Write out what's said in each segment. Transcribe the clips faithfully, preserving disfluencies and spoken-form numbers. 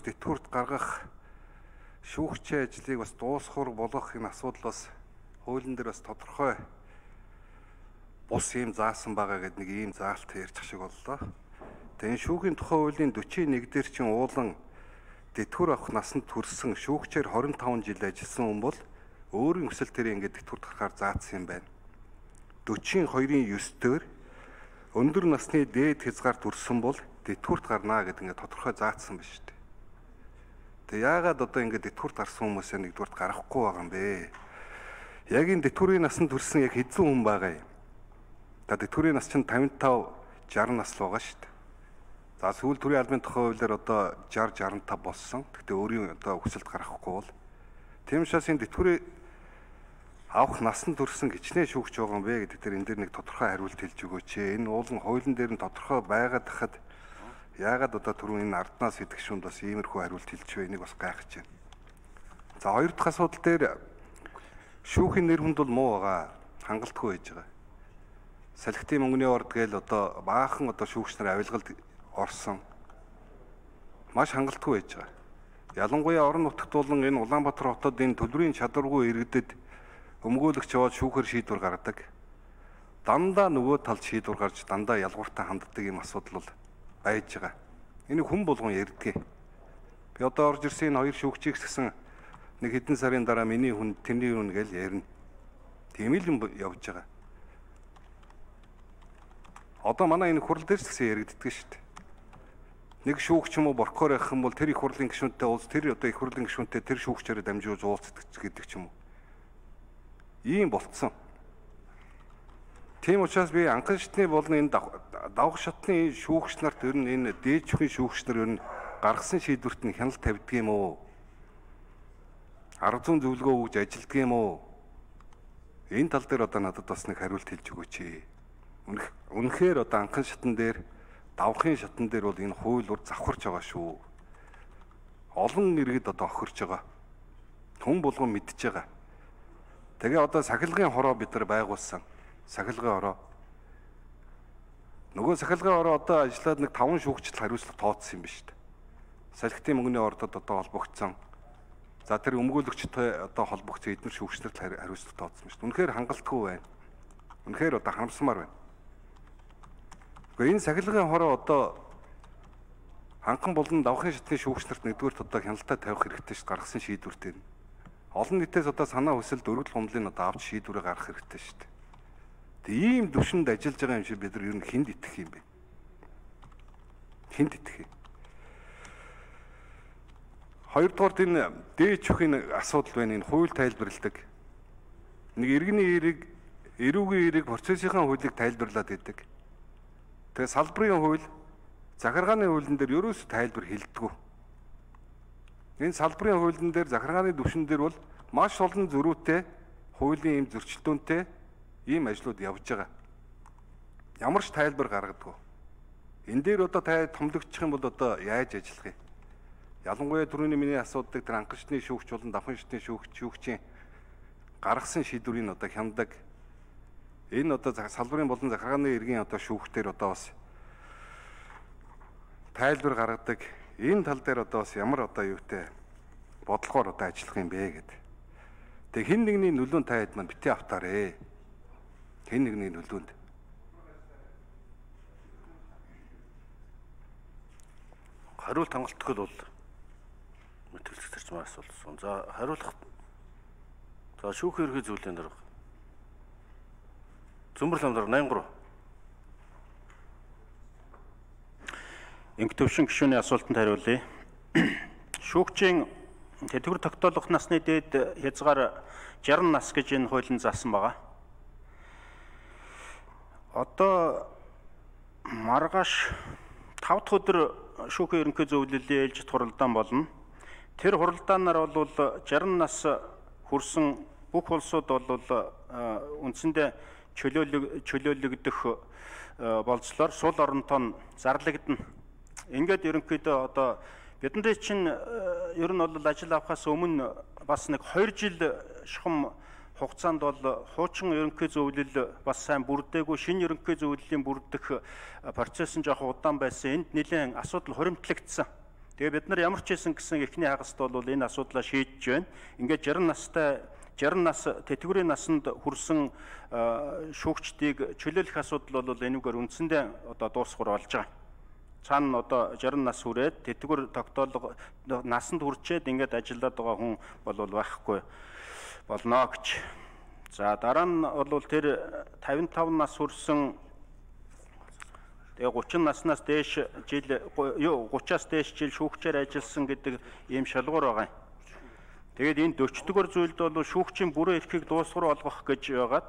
Тэтгэврт гаргах шүүгчийн ажлыг бас дуусгах болгох энэ асуудал бас хуулийн дээр бас тодорхой бус юм заасан байгаа гэдэг нэг ийм заалт ярьчих шиг боллоо. Тэгээ энэ шүүхийн тухай хуулийн дөрвөн нэг дээр чинь уулан тэтгэвэр авах насанд хүрсэн шүүгчээр хорин таван жил ажилласан хүн бол өөрийн хүсэл дээр ингээд тэтгэврт гарахаар заасан юм байна. дөрвөн хоёрын девять дээр өндөр насны дээд хязгаар төрсөн бол тэтгэврт гарнаа гэдэг ингээд тодорхой заасан байна шүү дээ. Тэгээ яагаад одоо ингээд тэтгэврт гарсан хүмүүсээ нэгдүгürt гарахгүй байгаа юм бэ? Яг энэ тэтгэврийн насанд хүрсэн яг хэдэн хүн байгаа юм? За тэтгэврийн нас чинь тавин тав шарсан нас л байгаа шүү дээ. За сүүл төрийн албаны тухай хуулиар одоо шарсан шарсан тав болсон. Гэхдээ өөрийн одоо хүсэлд гарахгүй бол тийм учраас энэ тэтгэврийн авах насанд хүрсэн гिचнээ шүүгч байгаа юм бэ гэдэг дээр энэ дээр нэг тодорхой хариулт хэлж өгөөч. Энэ уулын хуулийн дээр нь тодорхой байгаад хахад яагаад одоо түрүүн энэ арднаас идэх шүнд бас иймэрхүү хариулт хэлж байгааг бас гайхаж байна. За хоёр дахь асуудал дээр шүүхийн нэр хүнд бол муу байгаа. Хангалтгүй байж байгаа. Салхитын мөнгөний орд гээл одоо баахан одоо шүүгч нар авилгалд орсон. Маш хангалтгүй байж байгаа. Ялангуяа орон нутагт болон энэ Улаанбаатар хотод энэ төлбөрийн чадваргүй иргэдэд өмгөөлөгч яваад шүүхээр шийдвэр гаргадаг. Дандаа нөгөө талд шийдвэр гарч дандаа ялгууртаа ханддаг юм асуудал бол байж байгаа. Энийг хүн болгон ярьдгийг. Би одоо орж ирсэн энэ хоёр шүүгчийг гэсэн нэг хэдэн сарын дараа миний хүн тэрний хүн гэж ярина. Тийм л юм явж байгаа. Одоо манай энэ хурал дээр ч гэсэн яригддаг шүү дээ. Нэг шүүгч юм уу боркоор явах юм бол тэр их хурлын гишүүнтэй уулз тэр одоо их хурлын гишүүнтэй тэр шүүгчээрээ дамжуулж уулздаг гэдэг ч юм уу. Ийм болцсон. Тийм учраас би анхан шатны болон энэ давх шатны шүүгч нарт ер нь энэ дээд шүүхийн шүүгч нар ер нь гаргасан шийдвэрт нь хяналт тавьдаг юм уу? Арга зүйн зөвлөгөө өгж ажилддаг юм уу? Энэ тал дээр одоо надад бас нэг хариулт хэлж өгөөч. Үнэхээр одоо анхан шатн дээр давхын шатн дээр бол энэ хууль ур завхарч байгаа шүү. Олон иргэд одоо охирч байгаа. Хүн болгон мэдж байгаа. Тэгээ одоо сахилгын хороо бид нар байгуулсан. Сахилгын хороо. Нөгөө сахилгын хороо одоо ажиллаад нэг таван шүүгчд хариуцлага тооцсон юм ба шүү дээ. Салхитын мөнгөний ордод одоо холбогдсон. За тэр өмгөөлөгчтэй одоо холбогдсон эдгээр шүүгчнэрт хариуцлага тооцсон ба шүү дээ. Үнэхээр хангалтгүй байна. Үнэхээр одоо харамсмаар байна. Гэхдээ энэ сахилгын хороо одоо ханхан болон давхын шатны шүүгчнэрт нэгдүгээрт одоо хяналтаа тавих хэрэгтэй шүү гаргасан шийдвэртэй. Олон нийтээс одоо санаа хүсэлд өргөл гомдлыг одоо авч шийдвэрээ гаргах хэрэгтэй шүү дээ. Тэгээ ийм төвшөнд ажиллаж байгаа юм шиг бид нар ер нь хүнд итгэх юм бэ? Хүнд итгэх юм. Хоёрдугаарт энэ дээд шүүхийн асуудал байна. Энэ хууль тайлбарладаг. Нэг иргэний эерэг, эрүүгийн эерэг процессийнхаа хуулийг тайлбарлаад идэг. Тэгээ салбарын хууль, захиргааны хуулийн дээр ерөөсөө тайлбар хэлдэггүй. Энэ салбарын хуулийн дээр захиргааны түвшин дээр бол маш олон зөрүүтэй, хуулийн ийм зөрчилдөөнтэй ийм ажлууд явж байгаа. Ямар ч тайлбар гаргадаг. Энэ дээр одоо та томлогдчих юм бол одоо яаж ажиллах юм? Ялангуяа түрүүний миний асуудаг тэр анхан шатны шүүгч болон давхын шатны шүүгч шүүгчийн гаргасан шийдвэрийг одоо хяндаг. Энэ одоо салбарын болон захиргааны иргэн одоо шүүгчдэр одоо бас тайлбар гаргадаг. Энэ тал дээр одоо бас ямар одоо юутэй бодлогоор одоо ажиллах юм бэ гэдэг. Тэг хин нэгний нөлөөнд таад маань битээ автаарэ. Хин нэгний нөлөөнд. Хариулт хангалтгүй бол мэтгэлцэж тарчмаар асуулсан. За хариулах. За шүүх ерхий зүйлийн дарга. Зөмбөр ламдар восемь три. Инх төвшин гишүүний асуултанд хариулъя. Шүүгчийн тэтгэвэр тогтоолох насны дээд хязгаар шарсан нас гэж энэ хуулийн заасан байгаа. Одоо маргааш тав дахь өдөр шүүхийн ерөнхий зөвлөлийн ээлжид хуралдаан болно. Тэр хуралдаанаар бол шарсан нас хүрсэн бүх улсууд бол үндсэндээ чөлөөлөгдөх болцлоор сул оронтой нь зарлагдана. Ингээд ерөнхийдөө одоо бидний чинь ер нь бол ажил авахаас өмнө бас нэг хоёр жил шухам хугацаанд бол хуучин ерөнхий зөвлөл бас сайн бүрдээгүй, шинэ ерөнхий зөвлөлийн бүрдэх процесс нь жоох удаан байсан. Энд нэлээд асуудал хуримтлагдсан. Тэгээ бид нар ямар ч хэлсэн гэсэн эхний хагаст бол энэ асуудлаа шийдэж байна. Ингээд шаран настай шаран нас тэтгэврийн насанд хүрсэн шүүгчдийг чөлөөлөх асуудал бол энүүгээр үндсэндээ одоо дуусгар болж байгаа. Цаана одоо шаран нас хүрээд тэтгэвэр тогтоолго насанд хүрчээд ингээд ажиллаад байгаа хүн бол байхгүй болно гэж. За дараа нь бол тэр тавин тав нас хүрсэн тэгээ гучин наснаас дээш жил юу гучраас дээш жил шүүгчээр ажилласан гэдэг ийм шалгуур байгаа юм. Тэгээд энэ дөрвөн дугаар зүйлд бол шүүгчийн бүрэн эрхийг дуусгар болгох гэж байгаад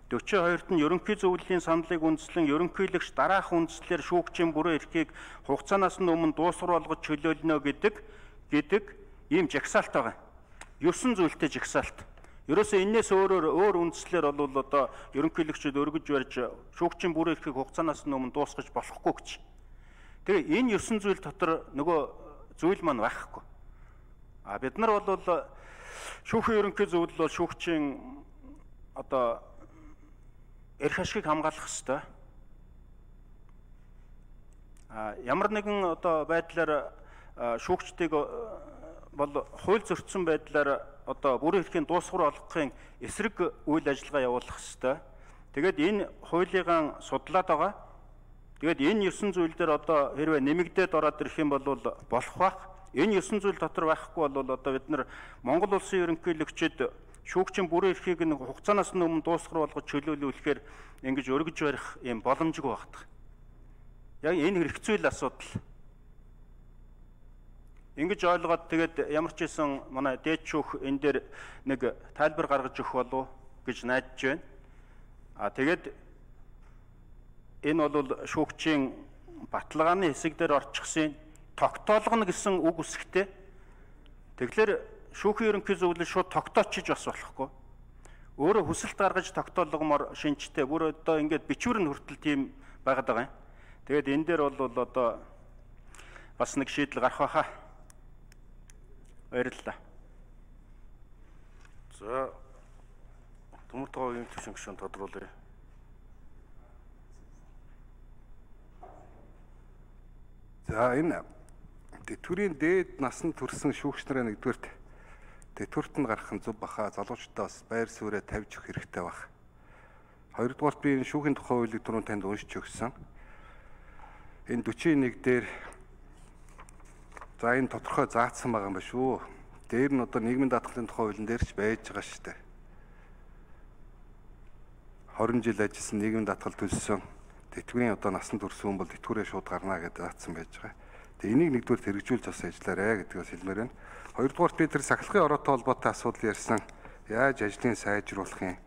дөрвөн хоёрт нь ерөнхий зөвлөлийн саналыг үндэслэн ерөнхийлөгч дараах үндслээр шүүгчийн бүрэн эрхийг хугацаанаас нь өмнө дуусгар болгож чөлөөлнө гэдэг гэдэг ийм жагсаалт байгаа. Ёсон зүйлтэй жагсаалт. Ерөөсөө энэс өөрөөр өөр үндслээр бол одоо ерөнхийлөгчд өргөж барьж шүүгчийн бүрэн эрхийг хугацаанаас нь өмнө дуусгаж болохгүй гэж. Тэгээ энэ ёсон зүйл дотор нөгөө зүйл маань байхгүй. А бид нар бол шүүхийн ерөнхий зөвлөл бол шүүгчийн одоо эрх ашгийг хамгаалах ёстой. А ямар нэгэн одоо байдлаар шүүгчдийг бол хууль зөрчсөн байдлаар одоо бүрэн эрхийн дуусгар болгохын эсрэг үйл ажиллагаа явуулах ёстой. Тэгээд энэ хуулийг судлаад байгаа. Тэгээд энэ ёсон зүйл дээр одоо хэрвээ нэмэгдээд ороод ирэх юм бол болох байх. Энэ ёсон зүйл дотор байхгүй бол одоо бид нар Монгол улсын ерөнхийлөгчд шүүгчийн бүрэн эрхийг нэг хугацаанаас нь өмнө дуусгар болгож чөлөөлүүлэхээр ингэж өргөж барих юм боломжгүй багтах. Яг энэ хэрэгцүүл асуудал. Ингэж ойлгоод тэгээд ямар ч байсан манай дээд шүүх энэ дээр нэг тайлбар гаргаж өгөх болов гэж найдаж байна. А тэгээд энэ бол шүүгчийн баталгааны хэсэг дээр орчихсон тогтоолгоно гэсэн үг үсгтэй. Тэгэхээр шүүхийн ерөнхий зөвлөл шууд тогтоочиж бас болохгүй. Өөрөө хүсэлт гаргаж тогтоолгомоор шинжтэй бүр одоо ингээд бичвэр нь хүртэл тийм байгаад байгаа юм. Тэгээд энэ дээр бол одоо бас нэг шийдэл гарах байхаа. Баярлалаа. За Төмөр Тоговын төвшин гишүүн тодруулъя. За энэ тэтгэврийн дээд насанд хүрсэн шүүгч нарын нэгдүгээрт тэтгэврт нь гарах нь зөв баха, залуучуудаа бас байр суурьа тавьж өгөх хэрэгтэй баг. Хоёрдугаарт би энэ шүүхийн тухай хуулийг түрүүн танд уншиж өгсөн. Энэ дөрвөн нэг дээр за энэ тодорхой заасан байгаа юм ба шүү. Дээр нь одоо нийгмийн даатгалын тухай хуулийн дээр ч байж байгаа шүү дээ. хорин жил ажилласан нийгмийн даатгал төлсөн тэтгэврийн одоо насанд хүрсэн хүн бол тэтгэврээ шууд гарна гэдэг заасан байж байгаа. Тэгээ энийг нэгдүгээр хэрэгжүүлж бас ажиллаарэ гэдгээс хэлмээр байна. Хоёрдугаарт би тэр сахилгын ороотой холбоотой асуудал ярьсан. Яаж ажлыг сайжруулах юм?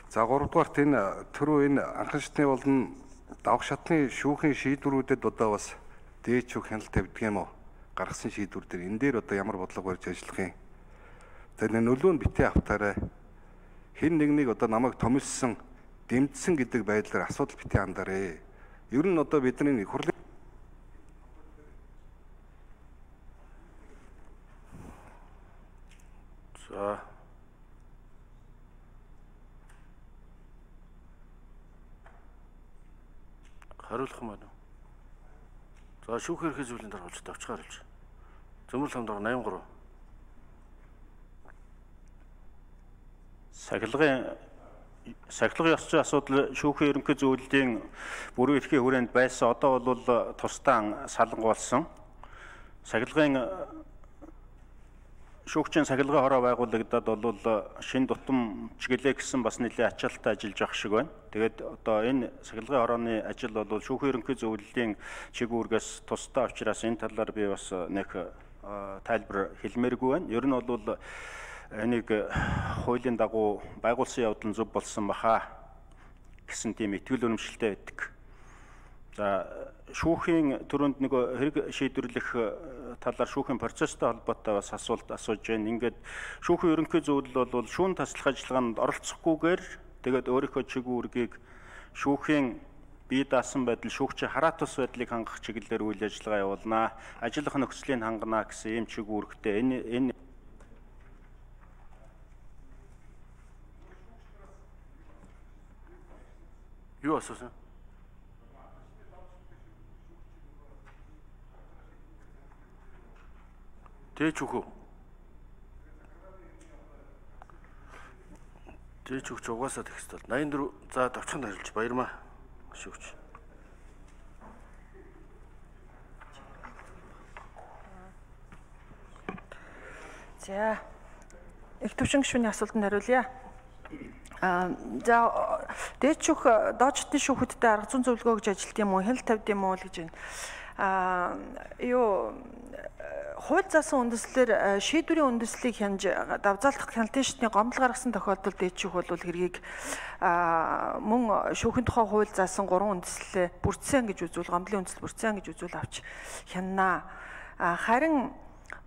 За гуравдугаарт энэ түрүү энэ анхан шатны болон давх шатны шүүхийн шийдвэрүүдэд одоо бас дээд шүүх хяналт тавьдаг юм уу? Гаргасан шийдвэр дээр энэ дээр одоо ямар бодлого барьж ажиллах юм? За энэ нөлөө нь битээ автаарай. Хэн нэгнийг одоо намайг томилсон, дэмжсэн гэдэг байдлаар асуудал битээ хандаарэ. Ер нь одоо бидний хурлын За хариулах юм байна. За шүүх эрхээ зүйлийн даргаалж давчгаар хэлж. Зөмөр хамдраг восемьдесят три. Сахилгын сахилгын ёс зүйн асуудал шүүхийн ерөнхий зөвлөлийн бүрэн эрхийн хүрээнд байсан. Одоо бол тусдаа салангуулсан. Сахилгын шүүгчийн сахилгын хороо байгуулагдаад бол шин тутам чиглэлээ гэсэн бас нэлээд ачаалттай ажиллаж явах шиг байна. Тэгээд одоо энэ сахилгын хорооны ажил бол шүүхийн ерөнхий зөвлөлийн чиг үүргээс тусдаа учраас энэ талаар би бас нэг тайлбар хэлмээргүй байна. Ер нь бол энийг хуулийн дагуу байгуулсан явдал нь зөв болсон баха гэсэн тийм итгэл үнэмшилтэй байдаг. За шүүхийн төрөнд нэг хэрэг шийдвэрлэх талаар шүүхийн процесстэй холбоотой бас асуулт асууж байна. Ингээд шүүхийн ерөнхий зөвлөл бол шүүн таслах ажиллагаанд оролцохгүйгээр тэгээд өөрийнхөө чиг үүргийг шүүхийн бие даасан байдал шүүгчийн хараат тус байдлыг хангах чиглэлээр үйл ажиллагаа явуулнаа. Ажиллах нөхцөлийг хангана гэсэн ийм чиг үүрэгтэй. Энэ энэ юу асуусан? Дээж өгөө. Дээж өгч угаасаа тэгс тал. восемьдесят дөрвөн за давчханд харилж баярмаа. Шүүгч. За. Их төвшин гишүүний асуултанд хариулъя. Аа за дээд шүүх доод шатны шүүхүүдтэй арга зүйн зөвлөгөө гэж ажилт юм уу? Хяналт тавьд юм уу л гэж байна. Аа юу хууль заасан үндэслэлээр шийдвэрийн үндэслэлийг хянаж давзаалдах хяналтын шатны гомдол гаргасан тохиолдолд дээд шүүх бол хэргийг аа мөн шүүхийн тухай хууль заасан гурван үндэслэлээ бүрдсэн гэж үзвэл гомдлын үндэслэл бүрдсэн гэж үзвэл авч хянанаа. Харин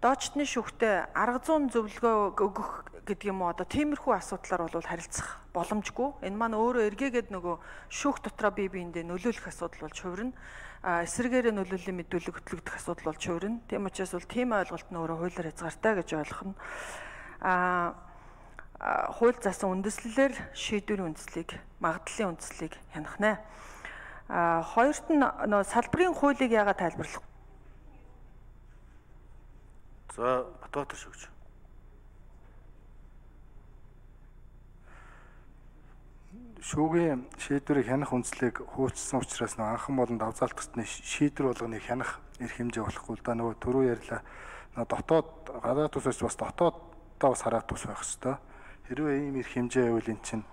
доод шатны шүүхтэй арга зүйн зөвлөгөө өгөх гэдэг юм уу одоо тиймэрхүү асуудлаар бол харилцах боломжгүй. Энэ маань өөрөө эргээгээд нөгөө шүүх дотроо бие биендээ нөлөөлөх асуудал болж хувирна. Эсрэгээрээ нөлөөллийн мэдүүлэг хөтлөгдөх асуудал болж хувирна. Тийм учраас бол тийм ойлголт нь өөрөө хуулиар хязгаартай гэж ойлгоно. Аа хууль заасан үндэслэлээр шийдвэрийн үндэслэлийг, магадлалын үндэслэлийг хянах нэ. Аа хоёрт нь нөгөө салбарын хуулийг яагаад тайлбарлах? За Батбаатар шүүгч. Шүүгийн шийдвэрийг хянах үндслийг хуульчсан учраас нэг анхан болон давзаалтгчны шийдвэр болгоныг хянах эрх хэмжээ болохгүй л да. Нөгөө түрүү ярьлаа. Нөгөө дотоод гадаад тусаас бас дотооддоо бас хараад тус байх хэвээр. Хэрвээ ийм эрх хэмжээ байвал эн чинь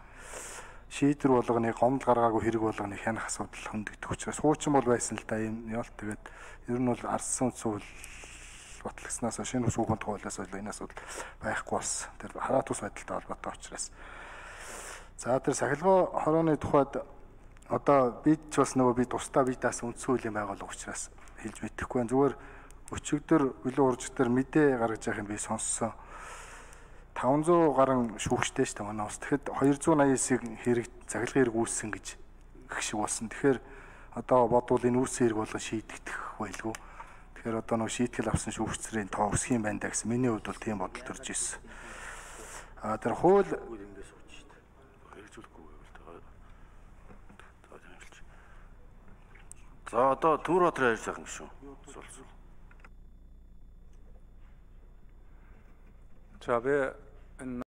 шийдвэр болгоныг гомдол гаргаагүй хэрэг болгоныг хянах асуудал хөндөгдөх учраас хуучин бол байсан л да. Ийм яалт тэгээд ер нь бол ардсан үндсүүл батлагснаас шинэ шүүхийн хуулиас бол энэ асуудал байхгүй бас. Тэр хараад тус байдалтай холбоотой учраас. За тэр сахилгын хорооны тухайд одоо бид ч бас нөгөө би тусдаа бидаас үндсэн хуулийн байгууллага учраас хэлж мэдэхгүй байна. Зүгээр өчигдөр билүү уржтэр мэдээ гаргаж явах юм би сонссон. таван зуун гаруй шүүгчтэй шүү дээ манай ус. Тэгэхэд хоёр зуун аясыг хэрэг захилгын хэрэг үүссэн гэж гэх шиг болсон. Тэгэхээр одоо бодвол энэ үүссэн хэрэг болон шийдэгдэх байлгүй. Тэгэхээр одоо нөгөө шийтгэл авсан шүүгчдийн тоо өсөх юм байна да гэсэн миний хувьд бол тийм бодол төрж ирсэн. А тэр хууль За одоо Төмөрбаатар хайр сайхан гişүн. За би